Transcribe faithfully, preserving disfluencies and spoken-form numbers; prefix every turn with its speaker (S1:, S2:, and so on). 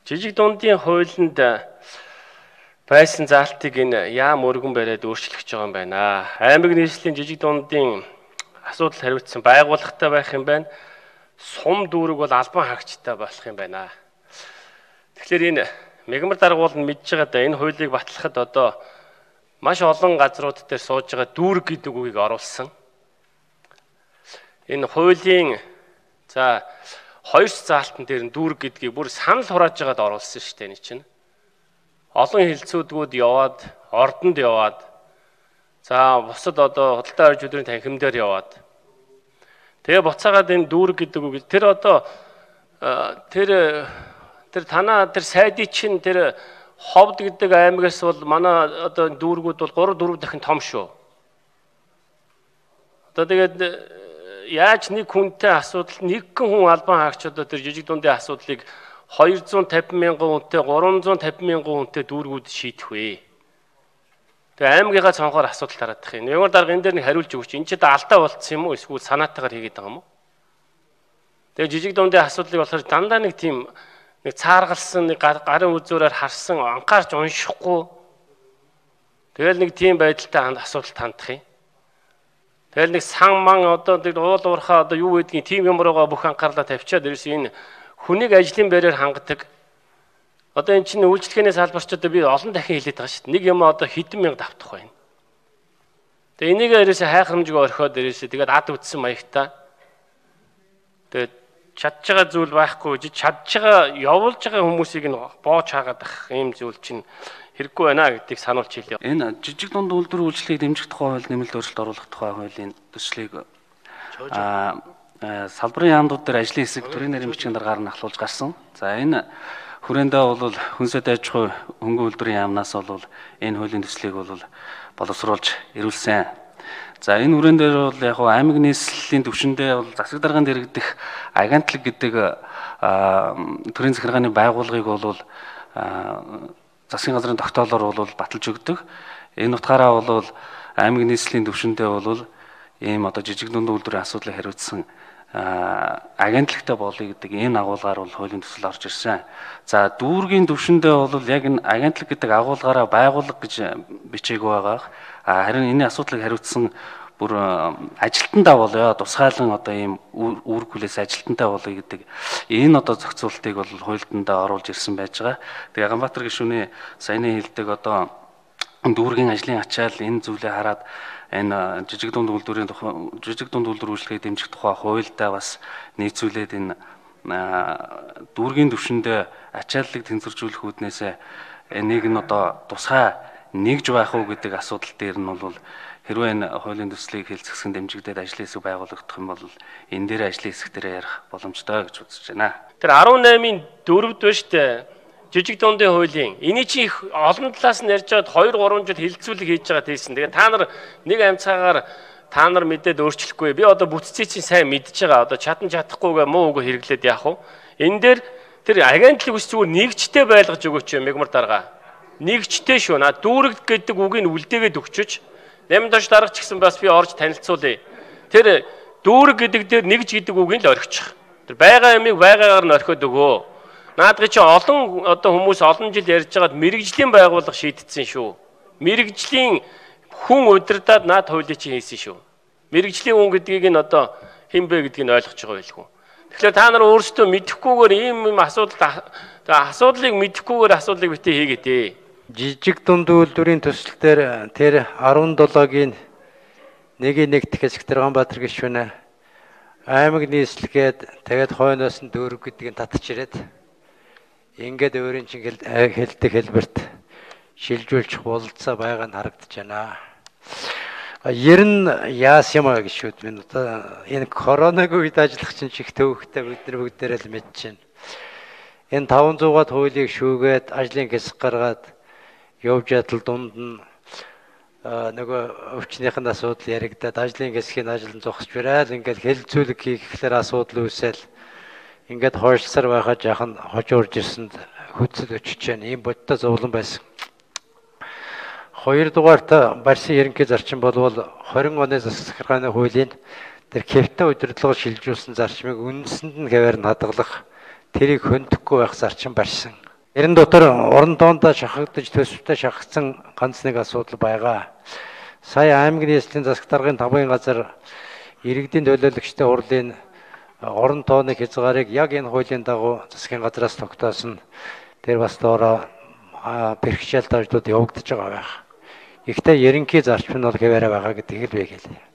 S1: Жижиг дундын хуулинд байсан заалтыг энэ яам өргөн бариад өөрчлөх гэж байгаа юм байна. Аймаг нийслэлийн жижиг дундын асуудал хариуцсан байгууллагатай байх юм байна. Сум дүүрэг бол албан хаагчтай болох юм байна. Тэгэхээр энэ мегмар даргуул нь мэдж байгаа да энэ хуулийг батлахад одоо маш олон газрууд дээр сууж байгаа дүүрэг гэдэг үгийг оруулсан. Энэ хуулийн за хоёр заалтан дээр нь дүүрэг гэдгийг бүр санал хурааж байгаад оруулсан шүү дээ энэ чинь. Олон хилцүүдгүүд яваад, ордонд яваад, за бусад одоо худалдаа орж өдрийн танхимдаар яваад. Тэгээ буцаагаад энэ дүүрэг гэдэг үг тэр одоо тэр тэр танаа тэр сайдын чинь тэр ховд гэдэг аймагаас бол манай одоо дүүргүүд бол гурав дөрөв дахин том шүү. Одоо тэгээд яаж нэг хүнтэй асуудал нэгэн хүн албан хаагч одоо тэр жижиг дундын асуудлыг хоёр зуун тавин мянган хүнтэй гурван зуун тавин мянган хүнтэй дүүргүүд шийдэх вэ? Тэгээ аймагийнхаа цонхоор асуудал тараадах юм. Ямар дарга энэ дээр нэг хариулж өгч энэ ч одоо алдаа болцсон юм уу эсвэл санаатайгаар хийгээд байгаа юм уу? Тэгээ жижиг дундын асуудлыг болохоор дандаа нэг тийм нэг цааргалсан нэг гарын үзүүрээр харсан анхаарч уншихгүй тэгэл нэг тийм байдалтай асуудалд хандах юм. Тэгэл нэг сан ман одоо тэр уул уурхаа одоо юу гэдгийг тийм юмроо бүх анхаарлаа тавьчаад ирсэн энэ хүнийг ажлын байраар хангадаг. Одоо эн чинь үйлчлэгээний салбарч одоо би олон дахин хэлээд байгаа шүү дээ. Нэг юм одоо хэдэн мянга давтах байна. Тэгээ энийг ерөөсөө хайхрамжгүй орхиод ерөөсөө тэгээд ад үтсэн маягтай. Тэгээд чадж байгаа зүйл байхгүй жиж чадж байгаа явуулж байгаа хүмүүсийг нь боож хаагаад ах ийм зүйл чинь хэрэггүй байна гэдгийг сануулж хэлье.
S2: Энэ жижиг дунд үйлдвэр үйлчлэгийг дэмжих тухай хууль нэмэлт өөрчлөлт оруулах тухай хуулийн төслийг аа салбарын яамдууд дээр ажлын хэсэг төрийн нарийн бичгийн дараагаар нь ахлуулж гарсан. За энэ хүрээндээ бол хүнсэд аж ахуй хөнгөн үйлдвэрийн яамнаас бол энэ хуулийн төслийг бол боловсруулж ирүүлсэн. За энэ хүрэн дээр бол яг хуу аймаг нийслэлийн түвшиндээ бол засаг дарганд иргэдэх агентлаг гэдэг төрийн захиргааны байгууллагыг бол засгийн газрын тогтоолоор бол баталж өгдөг. Энэ утгаараа бол аймаг нийслэлийн түвшиндээ бол ийм одоо жижиг дунд үйлдвэрийн асуудлыг хариуцсан агентлагтай болъё гэдэг энэ агуулгаар бол хуулийн төсөл орж ирсэн. За дүүргийн түвшиндээ бол яг энэ агентлаг гэдэг агуулгаараа байгууллага гэж бичээгүй байгаа. Харин энэ асуудлыг хариуцсан бүр ажилтнаа болё тусгайлан одоо ийм үүрэг хүлээс ажилтнаа болъё гэдэг энэ одоо зохицуултыг бол хуульдандаа оруулж ирсэн байж байгаа. Тэгээ Ганбаатар гишүүний саяны хэлдэг одоо дүүргийн ажлын ачаал энэ зүйлээ хараад энэ жижиг дунд үйлдвэрийн тухай жижиг дунд үйлдвэр үйлчлэгийг дэмжих тухай хуульдаа бас нийцүүлээд энэ дүүргийн түвшиндээ ачааллыг тэнцвэржүүлэх үүднээс энийг нь одоо тусгай нэгж байх уу гэдэг асуудал дээр нь бол хэрвээ энэ хуулийн төслийг хэлцэхсэн дэмжигдээд ажлын хэсэг байгуулагдах юм бол энэ дээр ажлын хэсэг дээр ярих боломжтой гэж үзэж байна.
S1: Тэр арван наймын дөрөвд ба штэ жижиг дундын хуулийн эний чи их олон талаас нь ярьж байгаад хоёр гурван жил хилцүүлэг хийж байгаа тийсэн. Тэгээ та нар нэг амьцаагаар та нар мэдээд өөрчлөхгүй. Би одоо бүтцийг чинь сайн мэдж байгаа. Одоо чадан чадахгүйгээ муу үгүй хэрэглээд яах вэ? Энэ дээр тэр агентлаг ус зүгээр нэгжтэй байлгаж өгөөч юм мегмар дарга. Нэгжтэй шүү. На дүүрэг гэдэг үгийг үлдээгээд өгчөж наймд доош дарга ч гэсэн бас би орж танилцуулъя. Тэр дүүрэг гэдэг дээр нэгж гэдэг үгийг л орхичих. Тэр байгаа юмыг байгаагаар нь орхиод өгөө. Наадгыг чи олон одоо хүмүүс олон жил ярьж байгаад мэрэгжлийн байгууллага шийдтсэн шүү. Мэрэгжлийн хүн удирдаад наад хуулийг чи хийсэн шүү. Мэрэгжлийн хүн гэдгийг нь одоо хэн бэ гэдгийг нь ойлгож байгаа байлгүй. Тэгэхээр та нар өөрсдөө мэдэхгүйгээр ийм юм асуудал асуудлыг мэдэхгүйгээр асуудлыг битээ хийгээдээ.
S3: Жижиг дунд үйлдвэрийн төсөл дээр тэр арван долоогийн нэгийг нэгдэх хэсэг Ганбаатар гишүүнэ аймаг нийслэгээд тэгээд хойноос нь дүүрэг гэдгийг татж ирээд ингээд өөрийн чинь хэлдэг хэлбэрт шилжүүлчих бололцоо байгаа нь харагдаж байна. Ер нь яас юм аа гişүүд минь одоо энэ коронавиг үед ажиллах чинь чих төвөгтэй бид нар бүгдээрээ л мэдж байна. Энэ таван зуугаад хуулийг шүүгээд ажлын хэсэг гаргаад явж ятал дунд нь нөгөө өвчнийхэн асуудал яригдаад ажлын хэсгийн ажил зогсож барайл ингээд хэлцүүлэг хийх гэхээр асуудал үүсэл ингээд хойшлсаар байхад жаахан хожуурж ирсэнд хөдөлж өчөж байна. Ийм бодтой зовлон байсан. Хоёрдугаарт барьсан ерөнхий зарчим болвол двадцать оны засаг захиргааны хуулийн тэр кэвтэ удирдлага шилжүүлсэн зарчмыг үндсэнд нь хэвээр нь хадгалах тэрийг хөндөхгүй байх зарчим барьсан. Ярин дотор орон тоондоо шахагдаж төсөвтэй шахагдсан ганц нэг асуудал байгаа. Сая аймгийн нийслэлийн засаг даргын тавын газар иргэдийн төлөөлөгчтэй хурлын орон тооны хязгаарыг яг энэ хуулийн дагуу засгийн газраас тогтоосон. Тэр бас доороо бэрхшээлт ажлууд явагдаж байгаа байх. Ихтэй ерөнхий зарчим нь бол хэвээрээ байгаа гэдгийг л би хэлье.